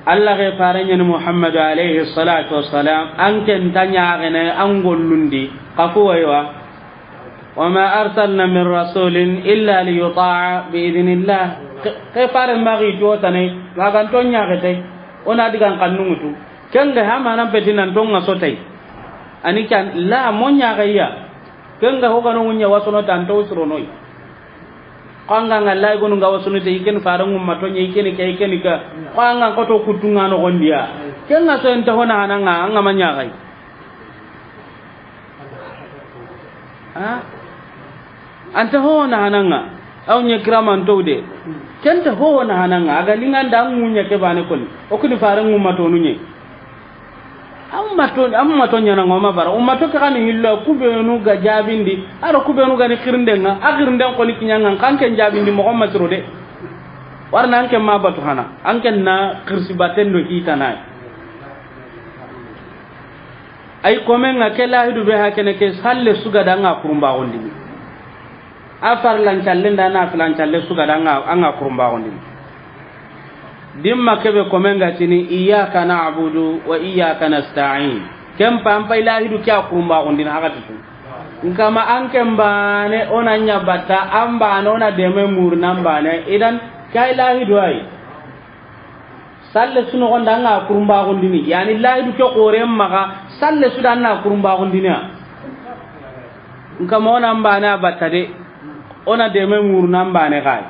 Alla ke fare ɲa ni Muhammadu alayhi salatu wassalam, an ken ta ɲaxene an gollundi, ka ku waywa. "Wa ma arsalna min rasulin illa li yuta'a bi idhnillah." Ke, ke fare maxi to tane, maganto ɲaxete, o na digan kannun ŋutu. Ken ga ha manan peti nan to ŋa sotay. Ani kan la mo ɲaxeya. Ken ga ho ga no ŋuɲa wasono tan to suronoy. Ko an ga ŋa lay gonu ŋa wasono te, i ken fare ŋumma to ɲa, i ken ke, i ken ka. Ko an ga ko to kutunga no gondiya. Ken ŋa so en ta hona hana ŋa, an ŋa ma ɲaxay. Ha? An ta ho na hana ŋa. Aw ɲa kiraman to de. Ken ta ho na hana ŋa. A ga linganda an ŋuɲa ke bane koni. O kuni fare ŋumma to nuɲe. An ma to, an ma to ɲana ŋoma bara. Umma to ke kan hillo, ku benu ga jabindi. A ro ku benu ga ni xirinden ŋa. A xirinden koni kiɲa ŋa, kan ken jabindi moxo ma siro de. Warna an ken ma batu hana. An ken na xirsi baten do hitanay. Ay komen ŋa ke lahidu be ha kene ke salle su ga da an ŋa kurumba gondini. A farlan calle nda nafilan calle su ga da an ŋa, an ŋa kurumba gondini. Dimma kebe komen ga tini, "Iyyaka na'budu wa iyyaka nasta'in." Ken pa an pay lahidu ke a kurumba gondini haga tutu. Nkama an ken bane o na ɲa batta, an bane o na deme murna an bane. Idan kay lahidu ay. Salle su noxon da an ŋa kurumba gondini, yani lahidu ke xoren maxa, salle su da an na kurumba gondini ya. Nkama o na an bane a batta de, o na deme murna an bane kay.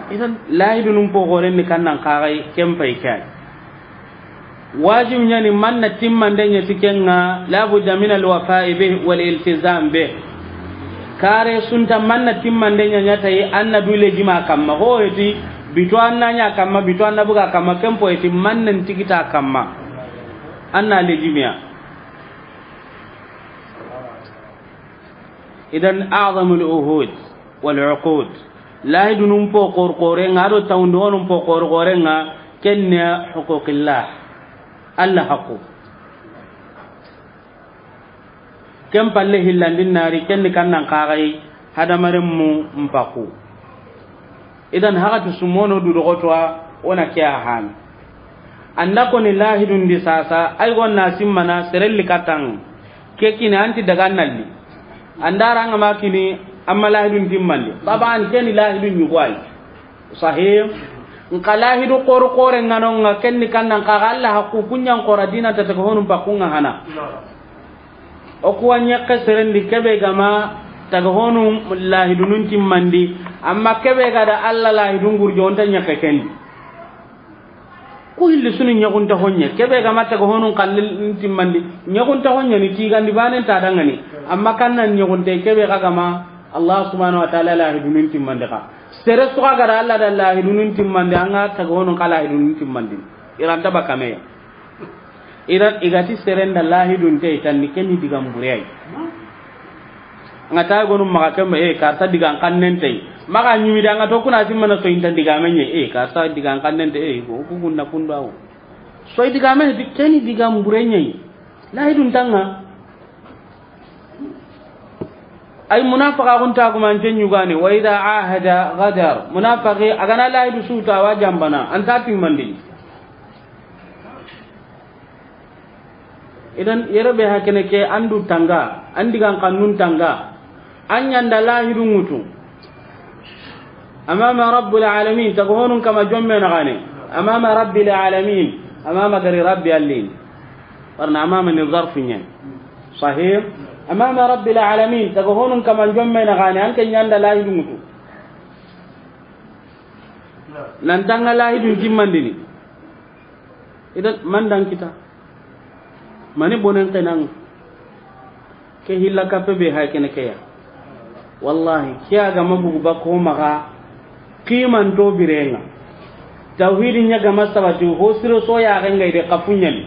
Idan lahidunun poxoren ni kannan kaxay ken pay kay. Wajib ɲa ni manna timmande ɲa ti ken ŋa, la budda min al wafa'i bih wal iltizam bih. Kare sunta manna timmande ɲa ɲa tayi, an na du lejima kamma. Ho heti, bito an na ɲa kamma, bito an na buga kamma, ken po heti manna ntigita kamma. An na lejimiya. Idan a'zamul uhud wal uqud. Lahidunun po xor xoren ŋa, a do tawundonun po xor xoren ŋa, ken ni huquqillah. Alla haqqu. Ken palle hillandin nari, ken ni kannan kaxay hadamaren mu mpaku. Idan hagati sumono du dogotowa, o na ke a hani. An da koni lahidun di sasa, ay gonna simmana serelli katan. Ke kini anti daga nalli. An da ranga ma kini amma lahidun timmandi. Taban keni lahidun ɲugo ay. Sahih. Nka lahidu xor xoren ŋa no ŋa, ken ni kannan kaxa Alla haqqu, kuɲan xora dina ta taga honun pakunga hana. O kuwa ɲakke serendi kebe gama taga honun lahidunun timmandi, amma kebe ga da Alla lahidun gurjo, o nta ɲakke kendi. Ku hilli sunu ɲaxunta hoɲe, kebe gama taga honun kallin timmandi, ɲaxunta hoɲe ni tigandi banen ta dangani, amma kannan ɲaxunte kebe ga gama Allah subhanahu wa ta'ala lahidunun timmandi ka. Sere suka ga da Alla da lahidunun timmandi, an ga taga honun ka lahidunun timmandi. Iranta bakameya. Idan i ga ti serenda lahidun te, i tan ni keni digan bure ay. An ga ta gonu maxa kemba, e, karsa digan kannen te. Maxa ɲimi da an ga to kuna simmana so inta digame ɲe, e, karsa digan kannen te, e, go ku kunna kundu awo. So i digame di keni digan bure ɲe. Lahidun tanga. Ay, munafaqaaxun taagumanten ɲugani, wa idha ahada ghadar. Munafaqi, a ga na laahidu su ta, a wa janbana, a nta timmandi. Idan, yere be hakene ke, an du tanga, an digan kannun tanga, an ɲa nda laahidu ŋutu. Amama Rabbul Alamin, taga honun kama jomme na gane. Amama Rabbil Alamin, amama gari Rabbi allin. Warna amama ni zarfu ɲen. Sahih. Amama Rabbil Alamin, taga honun kama jomme na gane, an ke ɲa nda laahidu ŋutu. Nan tanga laahidun timmandini. Idan, man dan kita. Mani bonen kenan. Ke hilla kappe be hay kene ke ya. Wallahi, ke a ga ma bugu ba ko maxa, kiman to birenga. Tawhidi ɲa ga ma sabati, ho siro so ya ga ngai de kafunyani.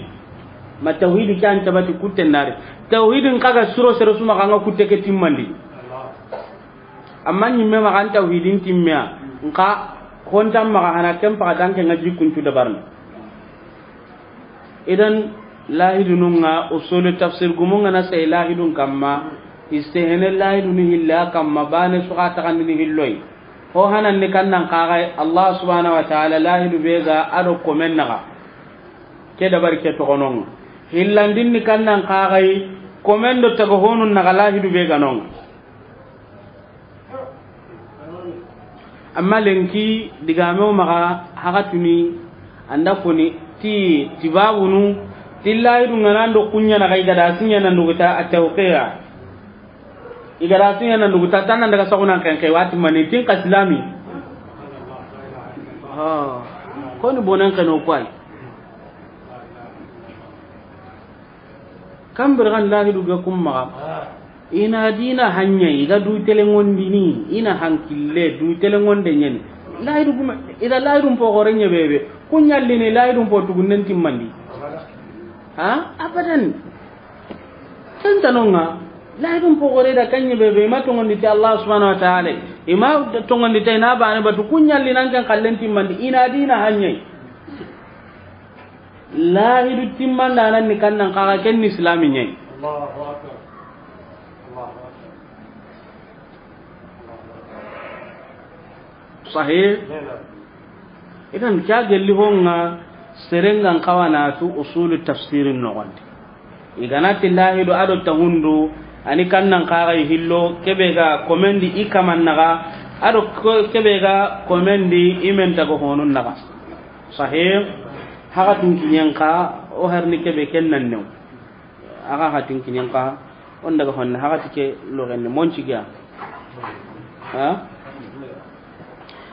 Ma tawhidi ke an tabati kutte ndari. Tawhidin kaga siro sero suma ga nga kutte ke timmandi. Amma ɲimme maxa an tawhidin timmeya, nka hontan maxa hana ken paxa danke nga jikkuncu dabarni. Idan, laahidunun ŋa, usulu tafsir gumun ŋa na sey laahidun kamma, istihene laahidunu hilla kamma, bane suxa taxandini hilloy. Ho hanan ni kannan kaxay, Allah subhanahu wa ta'ala laahidu be ga a do komen naxa. Ke dabari ke toxonon ŋa. Hillandin ni kannan kaxay, komen do taga honun naxa laahidu be ga non ŋa. Amma lenki digame wo maxa haxatuni, an da koni ti, ti babunu, ti lahidu ŋa nan do kuɲa na ga i ga da siɲa na nduguta a tawqiya. I ga da siɲa na nduguta tan nan daga saxunan xenxe wati mani tin ka silami. Ha. Koni bonen xeno koy. Kambir gan lahidu ga kum maxa. Ina dina hanya i ga du telengondini, ina hankille du telengonde ɲeni. Lahidu gume, ida lahidun po gore ɲebebe. Kuɲallini lahidun po tugunnen timmandi. Ha? Abadan. Ken tanonga, lahidun po gore da kan ɲebebe, ima tongondi ti Allah subhanahu wa ta'ala. Ima tongondi ti na bane batu kuɲallinan kan kallen timmandi. Ina dina hanya. Lahidu timmandanan ni kannan kaxa ken ni islami ɲayi. Allahu akbar. Allahu akbar. Sahih. Idan ke gelli honga serengan kawana tu usulu tafsirin nogondi. I ga na ti lahidu a do tahundu, ani kannan kaxa i hillo, kebe ga komendi i kaman naxa, a do ko-, kebe ga komendi i men taga honun naxa. Sahih. Haxatun kiɲen xa, o harni kebe ken nan new. Axa haxatun kiɲen xa, on daga honne haxati ke loxen ne monci ga. Ha?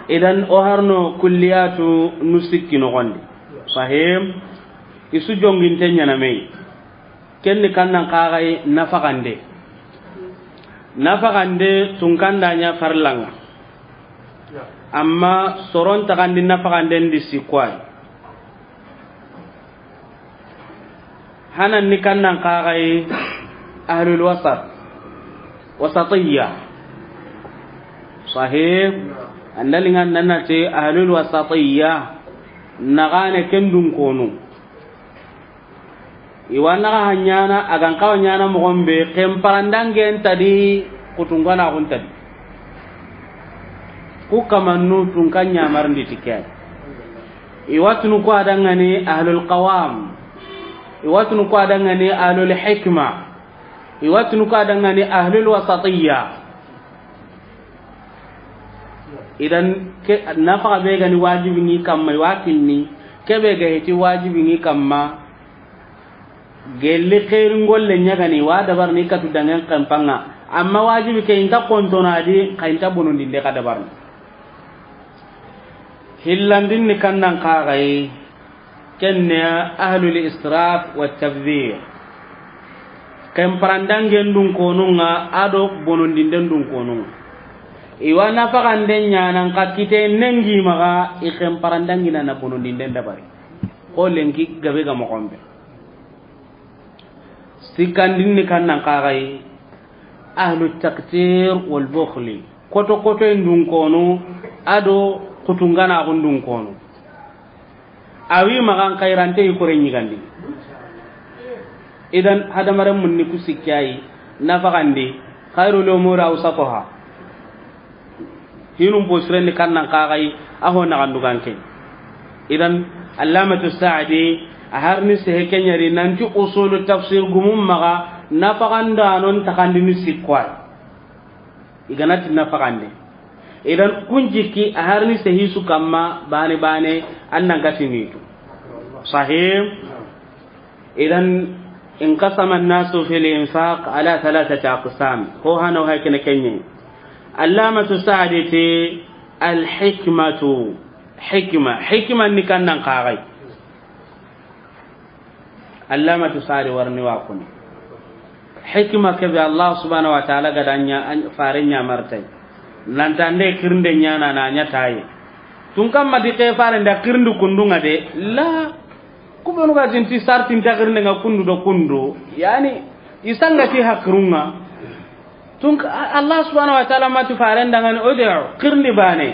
Idan o harno kulliyatu nu sikki noxondi. Sahih. I su jonginte ɲana me yi. Ken ni kannan kaxay nafaxande. Nafaxande tunkanda ɲa farlanga. Amma soron taxandi nafaxanden di sikkoy. Hanan ni kannan kaxay ahlul wasat. Wasatiyya. Sahih. Andalingan nanati ahlul wasatiyya. Naxane ken dun konu. I wa naxa ha ɲana, a gan kawa ɲana moxon be, ken parandangen tadi, kutungana xun tadi. Ku kamannu tunkan ɲamarndi ti ke. I wa tunu ku a dangani ahlul qawam. I wa tunu ku a dangani ahlul hikma. I wa tunu ku a dangani ahlul wasatiyya. Idan ke nafaxa be gani wajibi ni kamma, i wa kinni, ke be ga heti wajibi ni kamma, gelli xeeri ngolle ɲagani, wa dabarni katu dangen kempanga, amma wajibi ke inta kontonadi, xa inta bonondinde xa dabarni. Hillandin ni kannan kaxay, Ken ne ahlul israf wa tabdhir. Ken parandangen dun konunga, a do bonondinden dun konunga. I wa nafaxanden ɲanan xa kite nengi maxa, i ken parandangina na bonondinden dabari. Xo lenki gabe ga moxon be. Sikkandin ni kannan kaxay, ahlu taqtir wal bukhli. Koto koto en dun konu, a do kutunganaxun dun konu. Awi maxan xayrante i kore ɲigandi. Idan hadamaren mun ni ku sikkayi, nafaxandi, Khairul umuri awsatuha. Hinun posiren ni kannan kaxay, a ho naxandugan ke. Idan, Allamatu Saadi, a harni sehe kenyari, nanti usulu tafsir gumun maxa, nafaxandanon taxandini sikko ay. I ganati nafaxande. Idan, kun jikki, a harni sehi su kamma, bane bane, an nan gatinitu. Sahih? Idan, inqasama an-nasu fil infaq ala thalathati aqsam. Ho hana hay kene kenye. Allamatu Saadi ti, al-hikmatu. Hikma. Hikma ni kannan kaxay. Allamatu Saadi warni wa kuni. Hikma ke be Allah subhanahu wa ta'ala ga da ɲa, an, fare ɲa martay. Nanta nde kirinde ɲana na ɲa taye. Tun kamma di ke fare nda kirindi kundunga de. La. Ku benu ga tinti sarti nta kirinde nga kundu do kundu. Yani, i sanga ti hakirunga. Tun ka-, Allah subhanahu wa ta'ala ma ti faren dangani, ud'u, kirindi bane.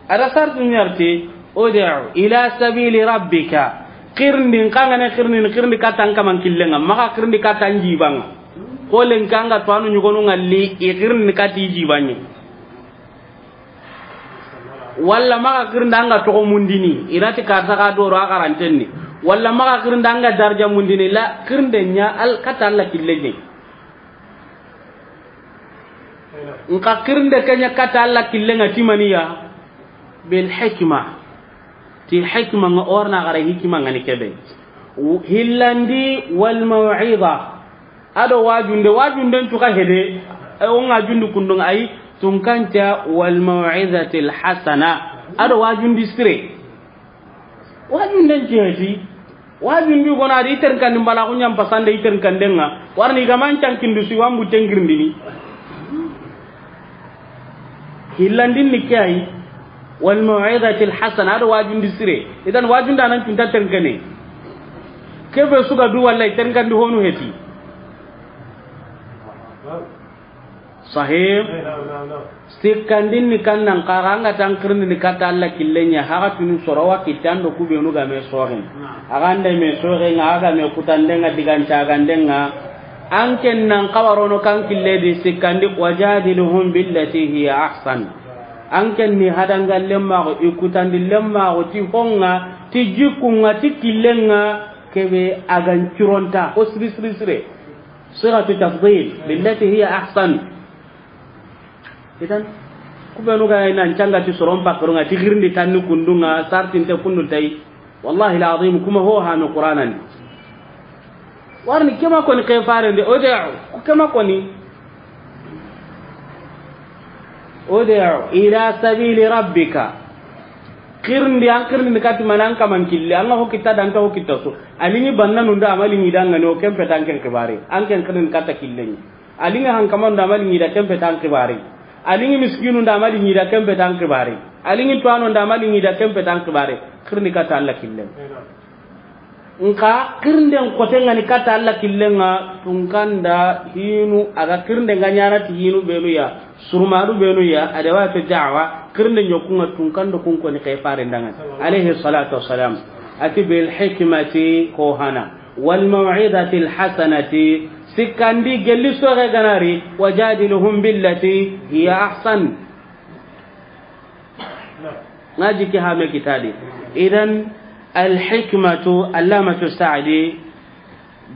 Ada sarti ɲarti, ud'u ila sabili rabbika. Kirindi, nkangane kirindi, kirindi katan kaman killenga. Maka kirindi katan jibanga. Ko lenkanga to anu ɲugonu ngalli, i kirindi kati jibanye. Walla maxa kirindanga toxo mundini, i nati karta xa doro a xarantenni. Walla maxa kirindanga darja mundini, la kirinde ɲa al-, kata Alla killenye. Nka kirinde ke ɲa kata Alla killenga ti maniya, bil hikma. Ti hikma nga orna xara hikma ngani kebe. Hillandi wal maw'iza. Ado wajunde, wajunden cuka hede, e, o nga jundi kundun ay, tunkanta wal maw'izatil hasana. Ado wajundi sire. Wajunden ceheti. Wajundi gona di iter kandi mbala ko nyam pasande iter kandenga. Warni gaman cankindu si wambu tengirindini. Hillandin ni ke ay, wal maw'izatil hasana, ado wajundi sire. Idan wajunda nan cunta tenkene. Kebe suga du wallahi tenkandi honu heti. Sahih. Sikkandin ni kannan kaga anga tan kirindini kata Alla killenya, haga tunu sorowa kitando kubenu game sogen. Agande me sogenga, aga me kutandenga, digancagandenga. An ken nan kawarono kan kille di sikkandi, wajadiluhum billati hiya ahsan. An ken ni hadangallen maxo, i kutandillen maxo, ti honga, ti jikkunga, ti killenga, kebe agan curonta, ko siri siri sire. Sigatu tafdil, billati hiya ahsan. Idan, kubenu ga nan canga ti soron pakkarunga, ti girindi tanni kundunga, sartinte kundu tay. Wallahi alazim, kuma ho hami Qur'anan. Warni kema koni ke farende, ud'u, kema koni. Ud'u ila sabili rabbika. Kirindi, an kirindi ni kati manan kaman kille, anga ho kita danta ho kita so. Alini banna nunda amali ni danga no kempe tan ken kibari. An ken kirindi kata killeni. Alingi hankamanu nda mali ŋida kempe tan kibari. Alingi miskinu nda mali ŋida kempe tan kibari. Alingi tuwano nda mali ŋida kempe tan kibari. Kirindi kata Alla killen. Nka kirinden kote ngani kata Alla killen nga tunkanda hinu aga kirinde nga nyana ti hinu benu ya. Surmaru benu ya. Adawatu da'wa. Kirinde nyokunga tunkando kunkoni kefare ndanga. Alayhi salatu wassalam. Ati bil hikmati ko hana. Wal maw'izatil hasanati, sikkandi gelli soxe ganari, wajadiluhum billati hiya ahsan. Ngaji ke hame kitadi. Idan, al hikmatu, Allamatu Sa'di,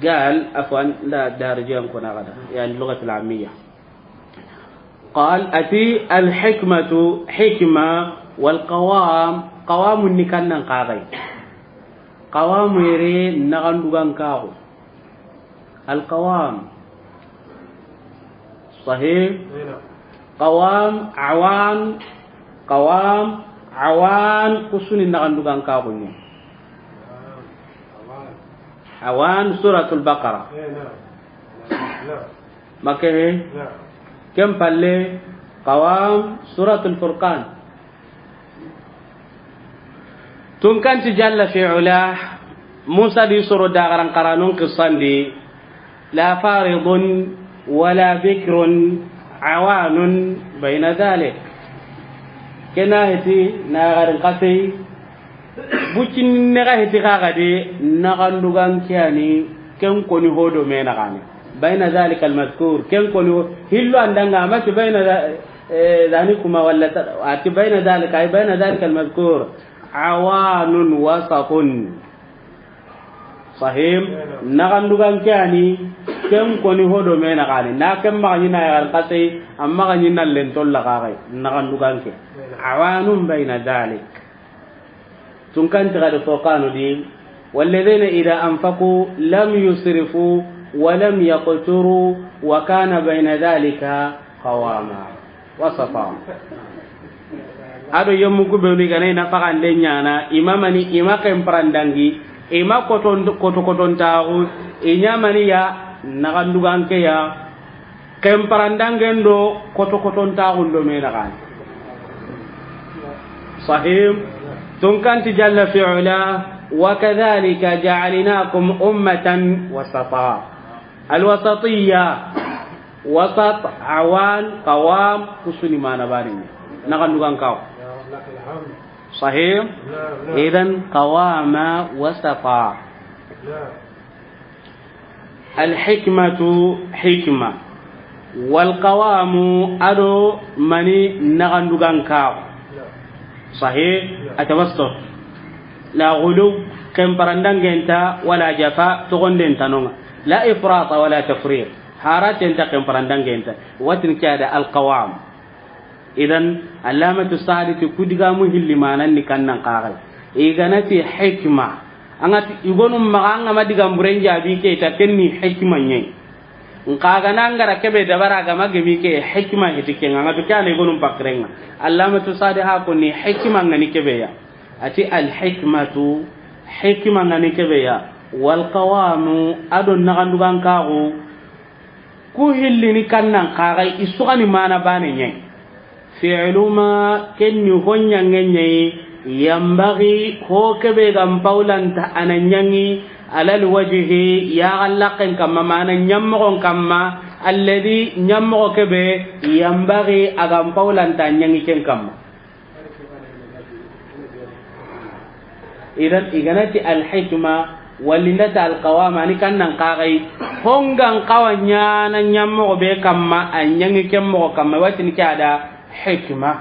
gal, afwan, da darjiyan kuna gada, yani lugatul amiyya. Qal, ati al hikmatu, hikma, wal qawam, qawamun ni kannan kagai. Qawamu yere naxandugan kaxu. Alqawam. Sahih. Qawam, awan, qawam, awan, kusuni naxandugan kaxu ni. Awan, Suratul Baqara. Makke he. Ken palle, qawam, Suratul Furqan. Tunkanti jalla fi ula, Musa di soro dagaran qaranun qissandi, la faridun wala bikrun awanun bayna dhalik. Kena heti na garin qasai, bucin ne ga heti kaga de, naxandugan kiyani, ken koni hodo me naxani. بين ذلك المذكور. Ken koni hillo an da ŋa, a ma ti بين ذا-، eh, ذلكما ولا ت-، a ti بين ذلك، أي بين ذلك المذكور عوان وسط. Sahih. Naxandugan ke a ni, ken koni ho do me naxa ni. Na ken maxa ɲi na yaxarin xase, a maxa ɲi na lentolla xaxe. Naxandugan ke. عوان بين ذلك. Tunkanti ga di Furqanu di, والذين إذا أنفقوا لم يسرفوا ولم يقتروا وكان بين ذلك قواما وسطا. A do yemmu ku be ni ga na i nafaxande ɲaana, i ma mani, i ma ken parandangi, i ma koton-, koto kotontaxu, i ɲa mani ya, naxandugan ke ya, Ken parandangen do koto kotontaxun do me naxa ni. Sahih. Tunkanti jalla fi ula, وكذلك جعلناكم أمة وسطا. الوسطية، وسط، عوان، قوام، ku su ni mana bani. Naxandugan kaw. Sahih. Idan قواما وسطا. Alhikmatu, hikma. Walqawamu, a do mani naxandugan kaxu. Sahih, atawassut. La ghuluw, ken parandangen nta, wala jafa, toxonden nta no ŋa. La ifrata wala tafrit. Haraten nta, ken parandangen nta. Watin ke ya da alqawam. Idan, Allamatu Sa'di ti ku digamu hilli manan ni kannan kaxay. I ga na ti hikma. An ga ti i gonu maxa, an ga ma digan buren jaabi ke ta, ken ni hikma ɲa yi. Nxa ga na an ga ra kebe dabara, a ga ma gemi ke hikma hiti ken ŋa, an ga ti ke ya ni i gonu pakiren ŋa. Allamatu Sa'di ha ko ni hikma ŋa ni kebe ya. A ti alhikmatu, hikma ŋa ni kebe ya. Walqawamu, a do naxandugan kaxu. Ku hillini kannan kaxay, i su ga ni mana bane ɲa yi. Fi'lu ma, ken ni ho ɲange ɲa yi, yanbaghi, ho kebe ga n pawlanta a na ɲangi, ala alwajhi, ya ga laqqen kamma, mana ɲammoxon kamma, alladhi, ɲammoxo kebe, yanbaghi, a ga n pawlanta a ɲangi ken kamma. Idan, i ga na ti alhikma, walla i nda ti alqawama, a ni kannan kaxay, ho ga n xawa ɲaana ɲammoxo be kamma, a ɲangi ken moxo kamma, i wa tini ke ya da hikma.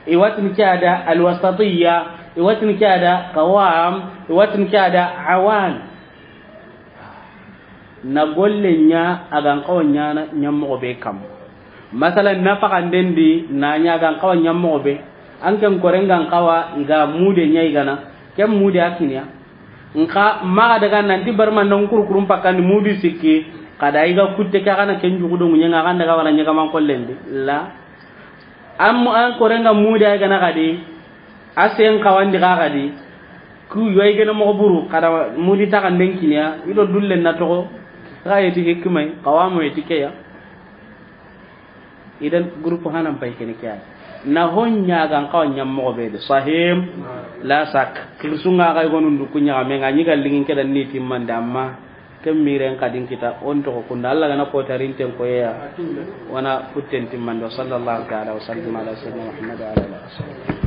I wa tini ke ya da alwasatiyya, i wa tini ke ya da qawam, i wa tini ke ya da awan. Na golle ɲa a ga n xawa ɲaana ɲammoxo be kamma. Masalan, nafaxanden di na ɲa a ga n xawa ɲammoxo be. An ken koren ga n xawa, i ga mude ɲa i ga na. Ken mude a kiniya. Nxa maxa daga nanti barma nan kurkurun pakkandi mudu sikki. Xa da i ga kutte ke, a ga na ken jugu do ŋuɲen ŋa, a ga n daga wala ɲagaman xollen di. La. An, an koren ga mude a ga na xadi. A sen xawandi xa xadi. Ku yoy gene moxo buru, xa da mudi taxanden kiniya, i do dullen na toxo, xa yeti hikmay, qawamu yeti ke ya. Idan groupe hanan pay kene ke ya. Na ho ɲa a ga n xawa ɲammoxo be de, sahim, la sak. Kirsunga xa i gonun du ku ɲaxame ŋa, ɲi ga lingin ke da ni timmande amma. Ken miren xadin kita, on toxo kunda. Alla ga na ko tarinten koyeya, wana kutten timmando. Sallallahu ta'ala wa sallam ala sayyidina Muhammad wa ala alihi wa sahbihi.